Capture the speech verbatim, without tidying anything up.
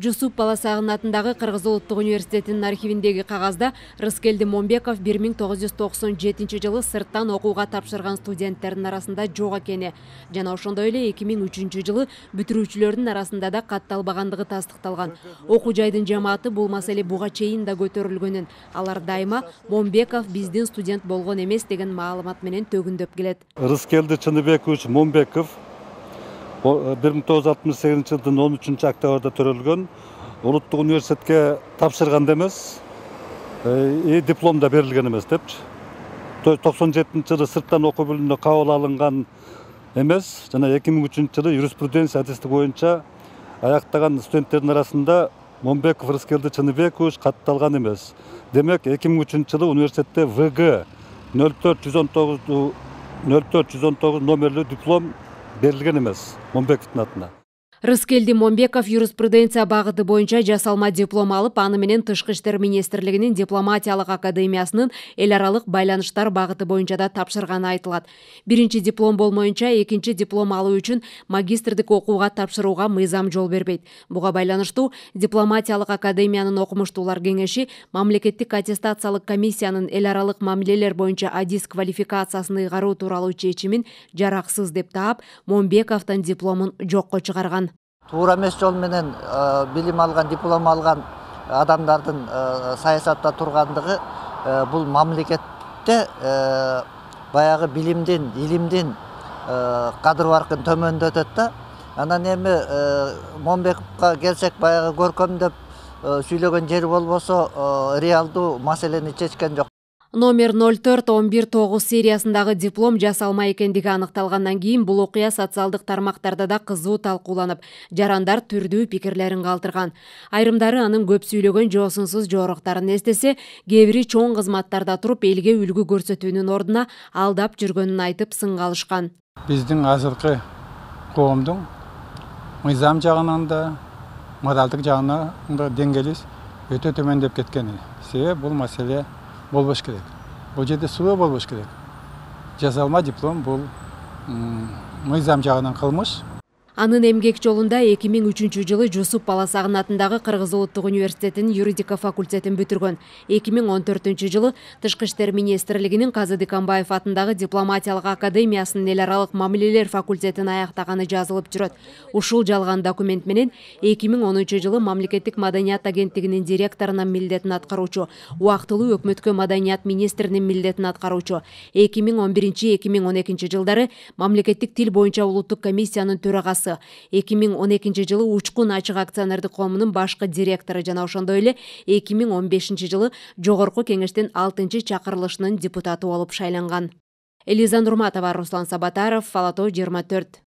Жусуп Баласагын атындагы Кыргыз Улуттук университетинин архивиндеги кагазда Рыскелди Момбеков бир миң тогуз жүз токсон жетинчи жылы сырттан окууга тапшырган студенттердин арасында жок экени жана ошондой эле эки миң үчүнчү жылы бүтүрүүчүлөрдүн арасында да катталбагандыгы тастыкталган. Окуу жайдын жамааты бул маселе буга чейин да көтөрүлгөнүн, алар дайыма Момбеков биздин студент болгон эмес деген маалымат менен төгүндөп келет. Рыскелди Чыныбекович Момбеков бир миң тогуз жүз алтымыш сегизинчи жылдын он үчүнчү октябрда төрөлгөн, улуттук университетке тапшырган эмес, диплом да берилген эмес депчи. токсон жетинчи жылы сырттан окуу бөлүмүнө кабыл алынган эмес, жана эки миң үчүнчү жылы юриспруденция адистик боюнча аяктаган студенттердин арасында Момбеков Рыскелди Чыныбекович катталган эмес. Демек, эки миң үчүнчү жылы университетте В Г нөл төрт жүз он тогуз номерлүү диплом берилген эмес Момбековдун атына. Рыскелди Момбеков юриспруденция багыты боюнча жасалма диплом алып, аны менен Тышкы иштер министрлигинин дипломатиялык академиясынын эл аралык байланыштар багыты боюнча да тапшырганы айтылат. Биринчи диплом болмоюнча экинчи диплом алуу үчүн магистрдик окууга тапшырууга мыйзам жол бербейт. Буга байланыштуу дипломатиялык академиянын окумуштуулар кеңеши мамлекеттик аттестациялык комиссиянын эл аралык мамилелер боюнча адис квалификациясын ыйгаруу тууралуу чечимин жараксыз деп таап, Момбековдун дипломун жокко чыгарган. Туура эмес жол менен билим алган, диплом алган адамдардын саясатта тургандыгы бул мамлекетте баягы билимдин, илимдин кадыр баркын төмөндөтөт да. Анан эми Момбековго келсек, баягы көркөмдөп сүйлөгөн жери болбосо реалдуу маселени чечкен жок. Номер нөл төрт он бир тогуз сериясындагы диплом жасалма экендиги аныкталгандан кийин бул окуя социалдык тармактарда да кызуу талкууланып, жарандар түрдүү пикирлерин калтырган. Айрымдары анын көп сүйлөгөн жоосунсуз жоороктарын эстесе, кээ бири чоң кызматтарда туруп элге үлгү көрсөтүүнүн ордуна алдап жүргөнүн айтып сынга алышкан. Биздин азыркы коомдун мыйзам жагынан да, моралдык жагынан да деңгээлибиз өтө төмөндөп кеткен. Себеби бул маселе болбош керек. Бул жерде суу болбош керек. Жасалма диплом бул мыйзам жагынан кылмыш. Анын эмгек жолунда эки миң үчүнчү жылы Жусуп Баласагын атындагы Кыргыз Улуттук университетинин юридика факультетин бүтүргөн. эки миң он төртүнчү жылы Тышкы иштер министрлигинин Казы Диканбаев атындагы дипломатиялык академиясынын эл аралык мамилелер факультетин аяктаганы жазылып жүрөт. Ушул жалган документ менен эки миң онунчу жылы мамлекеттик маданият агенттигинин директорунун милдетин аткаруучу, убактылуу өкмөткө маданият министринин милдетин аткаруучу, эки миң он биринчи — эки миң он экинчи жылдары мамлекеттик тил боюнча улуттук комиссиянын төрагасы, эки миң он экинчи жылы Учкун ачык акционердик коомунун башкы директору жана ошондой эле эки миң он бешинчи жылы Жогорку кеңештин алтынчы чакырылышынын депутаты болуп шайланган. Элиза Нурматова, Руслан Сабатаров, Ала Тоо жыйырма төрт.